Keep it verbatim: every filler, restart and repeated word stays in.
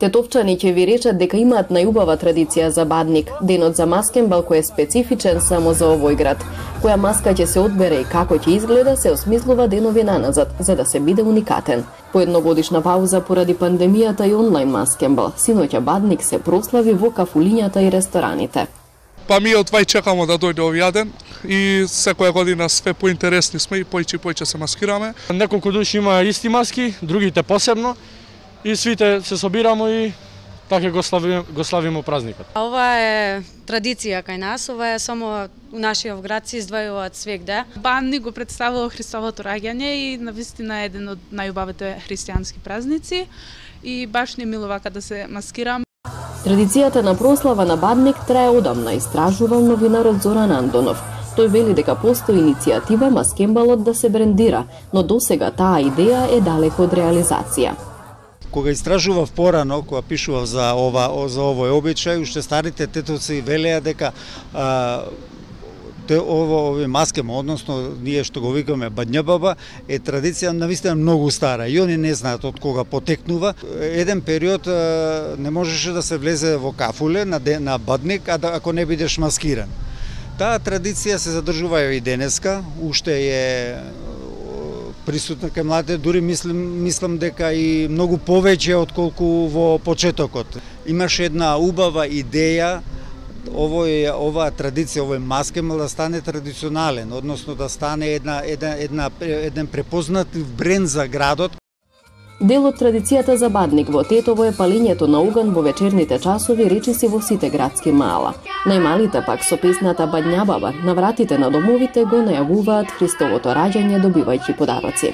Тетовчани ќе ви речат дека имаат најубава традиција за Бадник, денот за маскенбал кој е специфичен само за овој град. Која маска ќе се одбере и како ќе изгледа се осмислува денови наназад, за да се биде уникатен. По едногодишна пауза поради пандемијата и онлайн маскенбал, синоќа Бадник се прослави во кафулињата и рестораните. Па ми од вај чекамо да дојде овој ден и секоја година све поинтересни сме и појче и појче се маскираме. Неколку души има исти маски, другите посебно и свите се собирамо и така го славиме, го славиме празникот. Ова е традиција кај нас, ова е само у нашиот град се издвојуваат свегде. Бадник го представува Христовото раѓање и навистина е еден од најубавите христијански празници и баш не милува кога да се маскирам. Традицијата на прослава на Бадник трае одамна, истражувал новинарот Зоран Андонов. Тој вели дека постои иницијатива маскенбалот да се брендира, но досега таа идеја е далеко од реализација. Кога истражував порано, кога пишував за ова за овој обичај, уште старите тетовци велеа дека а, те ово овој маскема, односно ние што го викаме бањабаба, е традиција навистина многу стара и они не знаат од кога потекнува. Еден период а, не можеше да се влезе во кафуле на ден, на Бадник, а да, ако не бидеш маскиран. Таа традиција се задржува и денеска, уште е присутна кај младите, дури мислам, мислам дека и многу повеќе отколку во почетокот. Имаше една убава идеја овој оваа традиција, овој маскенбал да стане традиционален, односно да стане една една една еден препознатлив бренд за градот. Дел од традицијата за Бадник во Тетово е палењето на оган во вечерните часови речиси во сите градски мала. Најмалите пак со песната Бањабаба на вратите на домовите го најавуваат Христовото раѓање добивајќи подароци.